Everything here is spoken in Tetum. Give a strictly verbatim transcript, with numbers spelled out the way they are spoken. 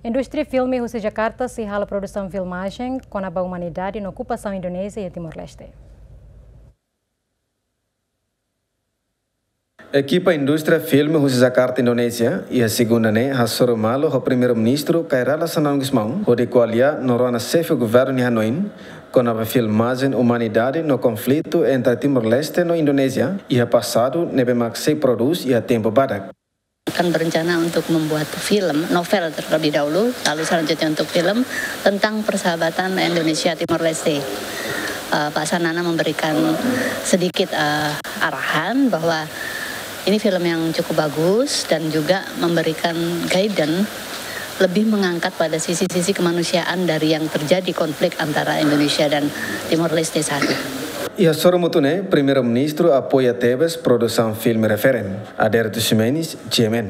Indústria filme husi Jakarta sei halo produsaun filmajen kona-ba umanidade no okupasaun Indonézia iha Timor-Leste. Ekipa indústria filme husi Jakarta, Indonézia, iha segunda ne'e hasoru malu ho Primeiru-Ministru Kay Rala Xanana Gusmão, hodi ko'alia no rona xefe governu nia hanoin kona-ba filmajen umanidade no konflitu entre Timor-Leste no Indonézia iha pasadu ne'ebé mak sei prodús iha tempu badak. Akan berencana untuk membuat film, novel terlebih dahulu, lalu selanjutnya untuk film tentang persahabatan Indonesia Timor Leste. Eh, Pak Xanana memberikan sedikit, eh, arahan bahwa ini film yang cukup bagus dan juga memberikan guidance lebih mengangkat pada sisi-sisi kemanusiaan dari yang terjadi konflik antara Indonesia dan Timor Leste saat ini. Iha sorumutu ne'e, Primeiru-Ministru apoia tebes produsaun filme referen. Adérito Ximenes, G M N.